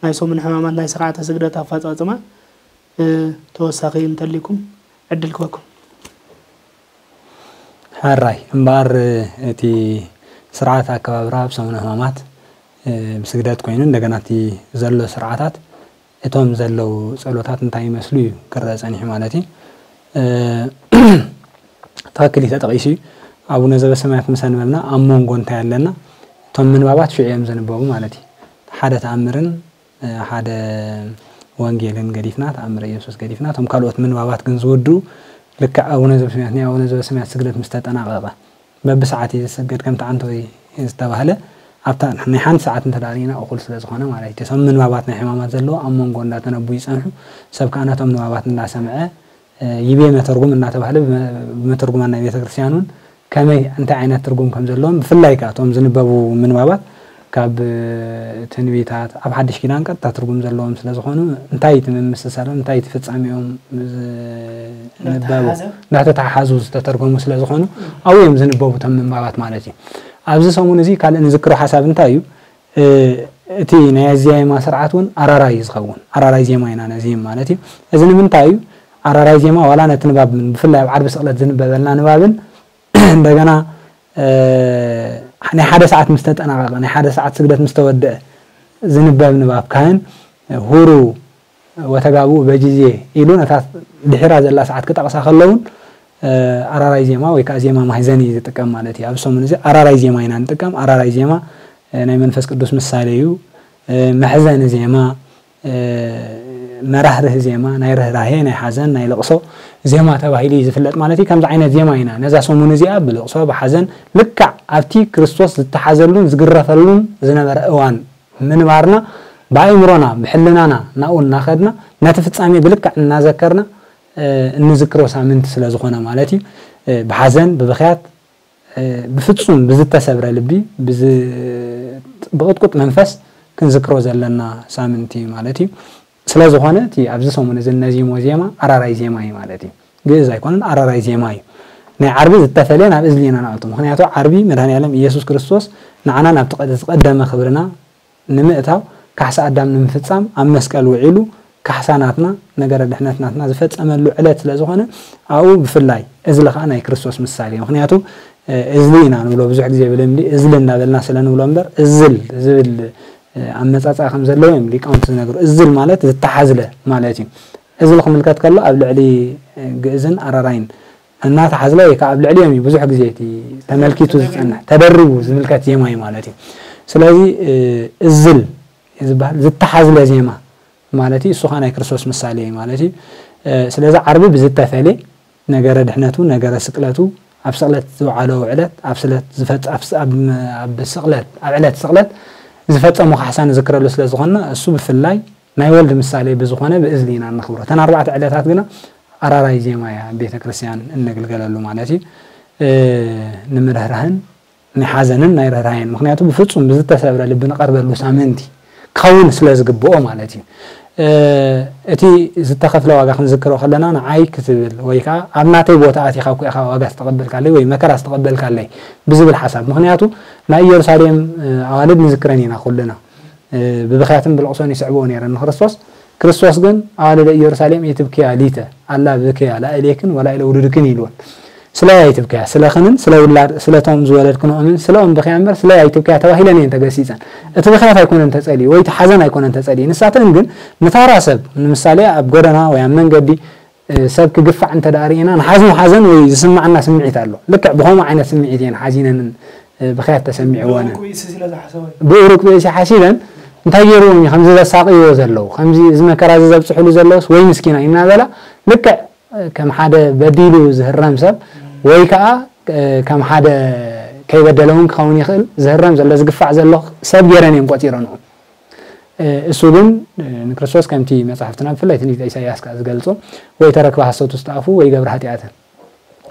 ናይ ሰሙን ሕማማት ናይ ስርዓተ ስግደት ኣፈፃፅማ ተወሳኺ እንተሊኩም ዕድል ክበኩም። ሕራይ እምበኣር እቲ ስርዓት ኣከባብራ ኣብ ሰሙነ ሕማማት ብስግደት ኮይኑ እንደገና እቲ ዘሎ ስርዓታት እቶም ዘለዉ ጸሎታት እንታይ ይመስሉ እዩ ክረአ ጸኒሑ ማለት እዩ። ትኽክል እዩ ተጠቒሱ እዩ። ኣቡነ ዘበሰማያት ምሰ ንበልና ኣብ መንጎ እንታይ ኣለና? እቶም ምንባባት ሽዑ እዮም ዝንበቡ ማለት እዩ። ሓደ ተኣምርን ሓደ ወንጌልን ገዲፍና፣ ተኣምረ ኢየሱስ ገዲፍና፣ እቶም ካልኦት ምንባባት ግን ዝውድኡ ልክዕ ኣቡነ ዘበሰማያት ናይ ኣቡነ ዘበሰማያት ስግደት ምስ ተጠናቐቐ በብሰዓት እዩ ዝስገድ ከምቲ ዓንተወይ ዝተባህለ ኣብታ ናይ ሓንቲ ሰዓት እንተ ርኢና እኹል ስለ ዝኾነ ማለት እዩ። እቶም ምንባባት ናይ ሕማማት ዘለዎ ኣብ መንጎ እንዳተነቡ ይጸንሑ። ሰብ ከኣ ነቶም ንባባት እንዳሰምዐ ይቤ መተርጉም እናተባህለ ብመተርጉማን ናይ ቤተ ክርስቲያን እውን ከመይ እንታይ ዓይነት ትርጉም ከም ዘለዎም ብፍላይ ከኣ እቶም ዝንበቡ ምንባባት ካብ ትንቢታት ኣብ ሓድሽ ኪዳን ቀጥታ ትርጉም ዘለዎም ስለ ዝኾኑ እንታይ እቲ ምምስሳሎም እንታይ እቲ ፍጻሜኦም ዝንበቡ እንዳተተሓሓዙ ዝተተርጎሙ ስለ ዝኾኑ ኣብኡ እዮም ዝንበቡ እቶም ምንባባት ማለት እዩ። ኣብዚ ሰሙን እዚ ካልእ ንዝክሮ ሓሳብ እንታይ እዩ? እቲ ናይ ኣዝያይማ ስርዓት እውን ኣራራይ እዩ ዝኸውን። ኣራራይ ዜማ ኢና ነዚም ማለት እዩ። እዚ ንምንታይ እዩ? ኣራራይ ዜማ ዋላ ነቲ ንባብ ብፍላይ ኣብ ዓርቢ ስቕለት ዝንበበልና ንባብን እንደገና ናይ ሓደ ሰዓት ምስ ተጠናቐቐ ናይ ሓደ ሰዓት ስግደት ምስ ተወደአ ዝንበብ ንባብ ካህን ሁሩ ወተጋብኡ በጅዜ ኢሉ ነታ ድሒራ ዘላ ሰዓት ክጠቕሳ ከለውን ኣራራይ ዜማ ወይ ከዓ ዜማ ማሕዘኒ ዝጥቀም ማለት እዩ። ኣብ ሰሙን እዚ ኣራራይ ዜማ ኢና ንጥቀም። ኣራራይ ዜማ ናይ መንፈስ ቅዱስ ምሳሌ እዩ። መሕዘኒ ዜማ፣ መራህርህ ዜማ፣ ናይ ርህራሄ፣ ናይ ሓዘን፣ ናይ ለቕሶ ዜማ ተባሂሉ እዩ ዝፍለጥ ማለት እዩ። ከምዚ ዓይነት ዜማ ኢና ነዛ ሰሙን እዚኣ ብለቕሶ ብሓዘን ልክዕ ኣብቲ ክርስቶስ ዝተሓዘሉን ዝግረፈሉን ዝነበረ እዋን ምንባርና ብኣእምሮና ብሕልናና ናብኡ እናኸድና ነቲ ፍጻሜ ብልክዕ እናዘከርና እንዝክሮ ሳምንቲ ስለ ዝኾነ ማለት እዩ። ብሓዘን ብብኽያት ብፍጹም ብዝተሰብረ ልቢ ብቕጥቁጥ መንፈስ ክንዝክሮ ዘለና ሳምንቲ ማለት እዩ። ስለ ዝኾነ እቲ ኣብዚ ሰሙን እዚ እነዚሞ ዜማ ኣራራይ ዜማ እዩ ማለት እዩ። ግእዝ ኣይኮነን ኣራራይ ዜማ እዩ። ናይ ዓርቢ ዝተፈለየ ናብ እዝሊ ኢና ንኣቱ። ምክንያቱ ዓርቢ መድሃኒኣለም ኢየሱስ ክርስቶስ ንዓና ናብቲ ዝቐደመ ክብርና ንምእታው ካሕሳ ኣዳም ንምፍጻም ኣብ መስቀል ውዒሉ ካሕሳ ናትና ነገረ ድሕነት ናትና ዝፈጸመሉ ዕለት ስለ ዝኾነ ኣብኡ ብፍላይ እዝሊ ከዓ ናይ ክርስቶስ ምሳሌ እዩ። ምክንያቱ እዝሊ ኢና ንብሎ ብዙሕ ግዜ ብልምዲ እዝሊ እናበልና ስለ ንብሎ እምበር እዝል ዝብል ኣመጻጽኣ ከም ዘለዎ እዮም ሊቃውንቲ ዝነግሩ። እዝል ማለት ዝተሓዝለ ማለት እዩ። እዝል ክምልከት ከሎ ኣብ ልዕሊ ግእዝን ኣራራይን እናተሓዝለ ወይ ከዓ ኣብ ልዕሊኦም እዩ ብዙሕ ግዜ እቲ ተመልኪቱ ዝፀንሕ ተደሪቡ ዝምልከት ዜማ እዩ ማለት እዩ። ስለዚ እዝል ዝበሃል ዝተሓዝለ ዜማ ማለት እዩ። እሱ ከዓ ናይ ክርስቶስ ምሳሌ እዩ ማለት እዩ። ስለዚ ዓርቢ ብዝተፈለ ነገረ ድሕነቱ ነገረ ስቅለቱ ኣብ ስቕለት ዝወዓሎ ዕለት ኣብ ስለት ዝፈፅ ኣብ ስቕለት ኣብ ዕለት ስቕለት ዝፈፀሞ ካሕሳ ንዝክረሉ ስለ ዝኾንና እሱ ብፍላይ ናይ ወልድ ምሳሌ ብዝኾነ ብእዝሊ ኢና እነኽብሮ። እተን ኣርባዕተ ዕለታት ግና ኣራራይ ዜማ እያ ቤተ ክርስቲያን እነግልገለሉ ማለት እዩ። ንምርህራህን ናይ ሓዘንን ናይ ርህራሄን ምክንያቱ ብፍጹም ብዝተሰብረ ልቢ ንቐርበሉ ሳምንቲ ክኸውን ስለ ዝግብኦ ማለት እዩ። እቲ ዝተኸፍለ ዋጋ ክንዝክሮ ከለና ንዓይ ክትብል ወይ ከዓ ኣብ ናተይ ቦታ ኣቲኻ እኮ ኢኻ ዋጋ ዝተቐበልካለይ ወይ መከራ ዝተቐበልካለይ ብዝብል ሓሳብ ምክንያቱ ናይ ኢየሩሳሌም ኣዋልድ ንዝክረን ኢና ኩልና ብብኽያትን ብልቕሶን ይስዕብኦ ነይረን ንክርስቶስ። ክርስቶስ ግን ኣዋልደ ኢየሩሳሌም ኢትብክያ ሊተ ኣላ ብክያ ላእሌክን ወላእለ ውሉድክን ኢልወን። ስለይ ኣይትብክያ፣ ስለኽንን ስለ ውላድ ስለቶም ዝወለድክንኦምን ስለኦም ብክያ እምበር ስለይ ኣይትብክያ ተባሂለን እየን ተገሲጸን። እቲ ብኽያት ኣይኮነን ተጸልዩ ወይ እቲ ሓዘን ኣይኮነን ተጸልዩ። ንሳተን ግን ንታራ ሰብ ንምሳሌ ኣብ ጎደና ወይ ኣብ መንገዲ ሰብ ክግፋዕ እንተ ደኣ ርኢና ንሓዝኖ ሓዘን ወይ ዝስማዓና ስምዒት ኣሎ። ልክዕ ብኸምኡ ዓይነት ስምዒት እየን ሓዚነንን ብኽያት ተሰሚዕወን። ብኡሩቅ ብእሲ ሓሲበን እንታይ ገይርዎም እዩ ከምዚ ዘሳቅይዎ ዘለዉ፣ ከምዚ እዚ መከራ እዚ ዘብፅሕሉ ዘለውስ ወይ ምስኪና እዩ እናበላ ልክዕ ከም ሓደ በዲሉ ዝህረም ሰብ ወይ ከዓ ከም ሓደ ከይበደለ እውን ክኸውን ይኽእል ዝህረም ዘሎ ዝግፋዕ ዘሎ ሰብ ገይረን እዮም ቆፂረንኡ። እሱ ግን ንክርስቶስ ከምቲ መፅሓፍትና ብፍላይ ትንቢተ ኢሳያስ ከዓ ዝገልፆ ወይ ተረክበ ሓሶት ውስጥ ኣፉ ወይ ገብረ ሓጢኣትን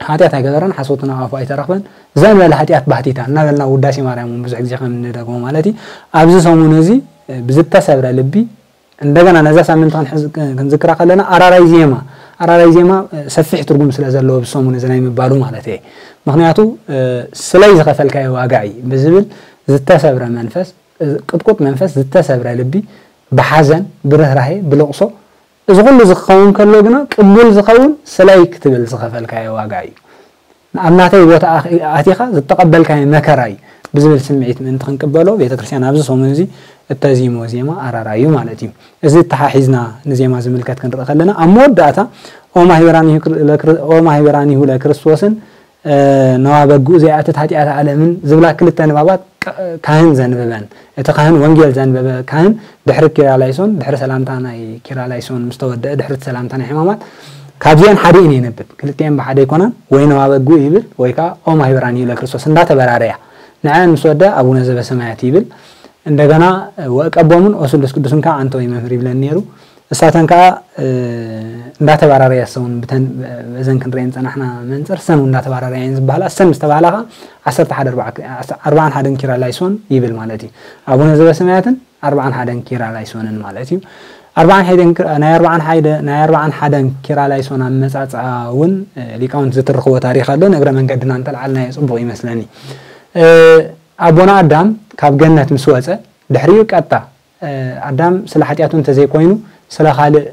ሓጢኣት ኣይገበረን፣ ሓሶት ናብ ኣፉ ኣይተረኽበን። ዘንበለ ሓጢኣት ባህቲታ እናበልና ውዳሴ ማርያም እውን ብዙሕ ግዜ ከም እንደግሞ ማለት እዩ። ኣብዚ ሰሙን እዚ ብዝተሰብረ ልቢ እንደገና ነዛ ሳምንት ክንዝክራ ከለና ኣራራይ ዜማ ኣራራይ ዜማ ሰፊሕ ትርጉም ስለ ዘለዎ ብሰሙን እዚ ናይ ምባሉ ማለት እየ። ምክንያቱ ስለይ ዝኸፈልካዮ ዋጋ እዩ ብዝብል ዝተሰብረ መንፈስ ቅጥቁጥ መንፈስ ዝተሰብረ ልቢ ብሓዘን ብርህራሄ ብልቕሶ እዚ ኩሉ ዝኸውን ከሎ ግና ቅቡል ዝኸውን ስለይ ክትብል ዝኸፈልካዮ ዋጋ እዩ። ኣብ ናተይ ቦታ ኣቲኻ ዝተቐበልካዮ መከራ እዩ ብዝብል ስምዒት ምእንቲ ክንቅበሎ ቤተ ክርስቲያን ኣብዚ ሰሙን እዚ እተዚሞ ዜማ ኣራራይ እዩ ማለት እዩ። እዚ ተሓሒዝና ንዜማ ዝምልከት ክንርኢ ከለና ኣብ መወዳእታ ኦ ማህበራኒሁ ለክርስቶስን ነዋ በግኡ ዘይኣትት ሓጢኣት ዓለምን ዝብላ ክልተ ንባባት ካህን ዘንብበን እቲ ካህን ወንጌል ዘንበበ ካህን ድሕሪ ኪራላይሶን ድሕሪ ሰላምታ ናይ ኪራላይሶን ምስ ተወደአ ድሕሪ ሰላምታ ናይ ሕማማት ካብዚአን ሓዲእን የንብብ። ክልቲአን ብሓደ ይኮናን ወይ ነዋ በግኡ ይብል ወይ ከዓ ኦ ማህበራን ይብለ ክርስቶስ እንዳተበራረያ ንዐን ምስ ወደ ኣቡነ ዘበሰማያት ይብል። እንደገና ወእቀቦምን ኦ ስሉስ ቅዱስን ከዓ ኣንተ ወይ መምህር ይብለን ነይሩ። እሳተን ከዓ እንዳተባራረያ ሰውን ብተን በዘን ክንሪአን ፀናሕና መንፅር ሰን እንዳተባራረያ እየን ዝበሃላ። ሰን ምስ ተባህላ ከዓ ዓሰርተ ሓደ ኣርባዓን ሓደን ኪራ ላይሶን ይብል ማለት እዩ። ኣቡነ ዘበሰማያትን ኣርባዓን ሓደን ኪራ ላይሶንን ማለት እዩ። ኣርባዓን ሓደን ናይ ኣርባዓን ሓደ ናይ ኣርባዓን ሓደን ኪራ ላይሶን ኣመፃፅኣ እውን ሊቃውንት ዝትርኽዎ ታሪክ ኣሎ። ንእግረ መንገድና እንተልዓልናዮ ፅቡቅ ይመስለኒ። ኣቦና ኣዳም ካብ ገነት ምስ ወፀ ድሕሪኡ ቀጣ ኣዳም ስለ ሓጢኣቱ እንተዘይኮይኑ ስለ ካልእ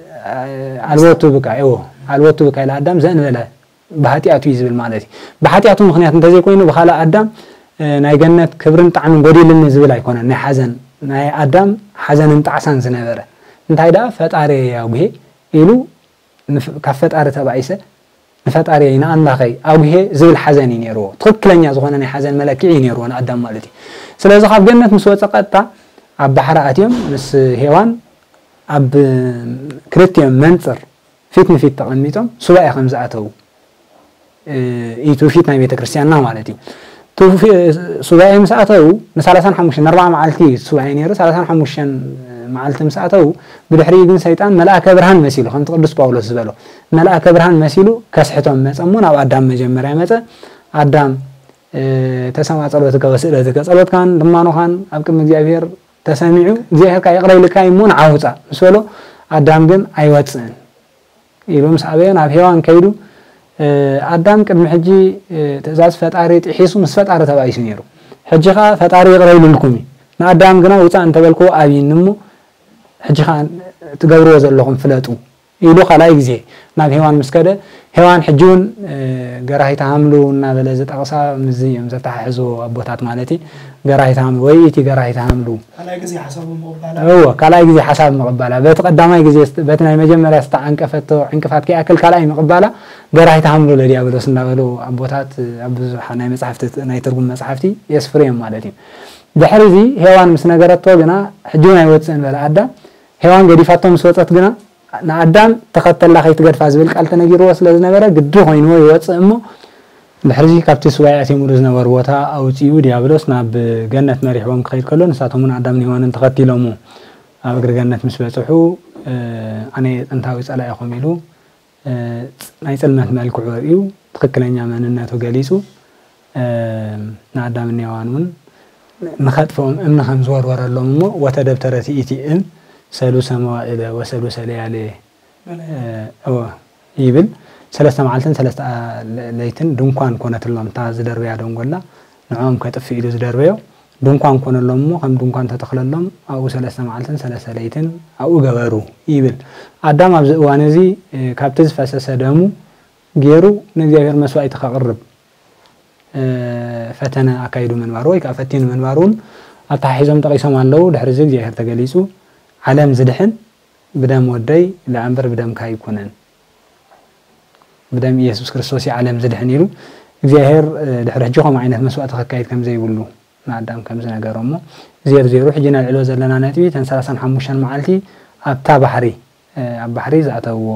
ኣልወቱ ብካ እዎ ኣልወቱ ብካ ኢለ ኣዳም ዘእንበለ ብሓጢኣቱ እዩ ዝብል ማለት እዩ። ብሓጢኣቱ ምክንያት እንተዘይኮይኑ ብካልእ ኣዳም ናይ ገነት ክብርን ጣዕምን ጎዲልኒ ዝብል ኣይኮነን። ናይ ሓዘን ናይ ኣዳም ሓዘንን ጣዕሳን ዝነበረ እንታይ ደኣ ፈጣሪ ኣጉሄ ኢሉ ካብ ፈጣሪ ተባኢሰ ንፈጣሪየይ ንኣምላኸይ ኣጉሄ ዝብል ሓዘን እዩ ነይርዎ። ትኽክለኛ ዝኾነ ናይ ሓዘን መለክዒ እዩ ነይርዎ ንኣዳም ማለት እዩ። ስለዚ ካብ ገነት ምስ ወፀ ቀጥታ ኣብ ባሕሪ ኣትዮም ምስ ሄዋን ኣብ ክልቲኦም መንፅር ፊት ንፊት ተቐሚጦም ሱባኤ ከም ዝኣተዉ እዩ ትውፊት ናይ ቤተ ክርስቲያንና ማለት እዩ። ሱባኤ ምስ ኣተዉ ንሰላሳን ሓሙሽተን ንኣርባዓ መዓልቲ እዩ ሱባኤ ነይሩ። ሰላሳን ሓሙሽተን መዓልቲ ምስ ኣተዉ ብድሕሪኡ ግን ሰይጣን መልኣከ ብርሃን መሲሉ ከምቲ ቅዱስ ጳውሎስ ዝበሎ መልኣከ ብርሃን መሲሉ ከስሕቶም መጸ እሞ ናብ ኣዳም መጀመርያ መጸ። ኣዳም ተሰማ ጸሎትከ ወስእለትከ ጸሎትካን ልማኖኻን ኣብ ቅድሚ እግዚኣብሔር ተሰሚዑ እግዚኣብሔር ከዓ ይቕረ ኢልካ እሞ ንዓ ውጻእ ምስ በሎ ኣዳም ግን ኣይወፅእን ኢሉ ምስ ኣበዮ ናብ ሄዋን ከይዱ ኣዳም ቅድሚ ሕጂ ትእዛዝ ፈጣሪ ጥሒሱ ምስ ፈጣሪ ተባኢሱ ነይሩ። ሕጂ ከዓ ፈጣሪ ይቕረ ኢሉልኩም እዩ። ንኣዳም ግና ውፃእ እንተበልክዎ ኣብይኒ እሞ ሕጂ ከዓ ትገብርዎ ዘለኹም ፍለጡ ኢሉ ካልኣይ ግዜ ናብ ሄዋን ምስ ከደ ሄዋን ሕጂ እውን ገራሂተ ሃምሉ እናበለ ዝጠቕሳ ምዚ እዮም ዘተሓሕዝዎ ኣቦታት ማለት እዩ። ገራሂተ ሃምሉ ወይ እቲ ገራሂተ ሃምሉ ካልኣይ ግዜ ሓሳቡ ምቕባላ እዎ ካልኣይ ግዜ ሓሳብ ምቕባላ በቲ ቀዳማይ ግዜ በቲ ናይ መጀመርያ ዝተዓንቀፈቶ ዕንቅፋት ከይኣክል ካልኣይ ምቕባላ ገራሂተ ሃምሉ ለዲያብሎስ እንዳበሉ ኣቦታት ኣብ ብዙሓ ናይ መፅሓፍቲ ናይ ትርጉም መፅሓፍቲ የስፍሩ እዮም ማለት እዩ። ድሕሪ እዚ ሄዋን ምስ ነገረቶ ግና ሕጂ እውን ኣይወፅእን በለ ኣዳም። ሄዋን ገዲፋቶ ምስ ወፀት ግና ንኣዳም ተኸተላ ከይትገድፋ ዝብል ቃል ተነጊርዎ ስለ ዝነበረ ግዲ ኮይንዎ ይወፅእ እሞ ድሕሪዚ ካብቲ ስዋይ ኣትየምሉ ዝነበሩ ቦታ ኣውፅኡ ዲያብሎስ ናብ ገነት መሪሕዎም ክኸይድ ከሎ ንሳቶም እውን ኣዳምን ሄዋንን ተኸቲሎሞ ኣብ እግሪ ገነት ምስ በፅሑ ኣነ ጥንታዊ ፀላኢኹም ኢሉ ናይ ፅልመት መልክዑ ርእዩ ትኽክለኛ መንነቱ ገሊፁ ንኣዳምን ሄዋን እውን ንኸጥፍኦም እምኒ ከም ዝወርወረሎም እሞ ወተደብተረት ይእቲ እም ሰሉሰ መዋዕለ ወሰሉሰ ለያሌ እወ ይብል። ሰለስተ መዓልትን ሰለስተ ለይትን ድንኳን ኮነትሎም እታ ዝደርበያ ደንጎላ ንዕኦም ከጥፍእ ኢሉ ዝደርበዮ ድንኳን ኮነሎም እሞ ከም ድንኳን ተተኽለሎም ኣብኡ ሰለስተ መዓልትን ሰለስተ ለይትን ኣብኡ ገበሩ ይብል። ኣዳም ኣብዚ እዋን እዚ ካብቲ ዝፈሰሰ ደሙ ገይሩ ንእግዚኣብሔር መስዋእቲ ከቕርብ ፈተነ ኣካይዱ ምንባሩ ወይ ከዓ ፈቲኑ ምንባሩ እውን ኣተሓሒዞም ጠቒሶም ኣለዉ። ድሕሪ እዚ እግዚኣብሔር ተገሊጹ ዓለም ዝድሕን ብደም ወደይ ደኣ እምበር ብደምካ ኣይኮነን፣ ብደም ኢየሱስ ክርስቶስ እዩ ዓለም ዝድሕን ኢሉ እግዚኣብሔር ድሕሪ ሕጂ ከምኡ ዓይነት መስዋእቲ ከካይድ ከም ዘይብሉ ንኣዳም ከም ዝነገሮ እሞ፣ ዜር ዜሩ ሕጂ ነልዕሎ ዘለና ነጥቢ እተን ሰላሳን ሓሙሽተን መዓልቲ ኣብታ ባሕሪ ኣብ ባሕሪ ዝኣተውዎ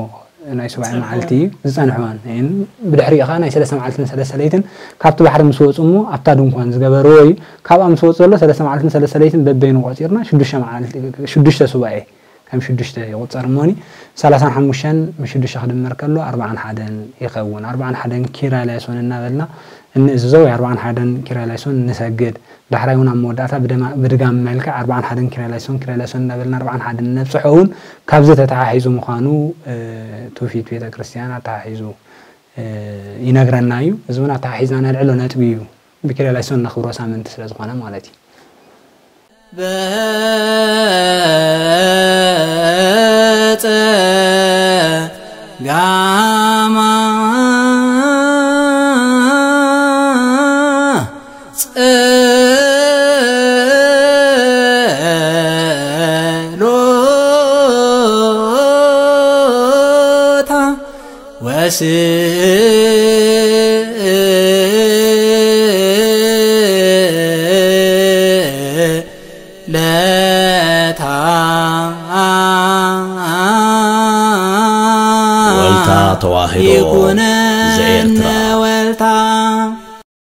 ናይ ሱባኤ መዓልቲ እዩ ዝጸንሕዋን። ብድሕሪኡ ከኣ ናይ ሰለስተ መዓልትን ሰለስተ ለይትን ካብቲ ባሕሪ ምስ ወጹ እሞ ኣብታ ድንኳን ዝገበርዎ እዩ። ካብኣ ምስ ወጹ ዘሎ ሰለስተ መዓልትን ሰለስተ ለይትን በበይኑ ቆጺርና ሽዱሽተ መዓልቲ፣ ሽዱሽተ ሱባኤ ከም ሽዱሽተ ይቑጸር እሞኒ፣ ሰላሳን ሓሙሽተን ምስ ሽዱሽተ ክድመር ከሎ ኣርባዓን ሓደን ይኸውን። ኣርባዓን ሓደን ኪርያ ላይሶን እናበልና እንእዝዞ ወይ ኣርባዓን ሓደን ኪርያ ላይሶን ንሰግድ። ዳሕራይ እውን ኣብ መወዳእታ ብደማ-፣ ብድጋም መልክዕ ኣርባዓን ሓደን ኪርያ ላይሶን፣ ኪርያ ላይሶን እናበልና ኣርባዓን ሓደን ነብጽሖ እውን ካብዚ ተተሓሒዙ ምዃኑ፣ እ፣ ትውፊት ቤተ ክርስቲያን ኣተሓሒዙ፣ እ፣ ይነግረና እዩ። እዚ እውን ኣተሓሒዝና ነልዕሎ ነጥቢ እዩ። ብኪርያ ላይሶን ነኽብሮ ሳምንቲ ስለ ዝኾነ ማለት እዩ። በጸጋማ ጸሎታ ወስእለታ ወልታ ተዋህዶ ይኩነነ ዘኤርትራ። ወልታ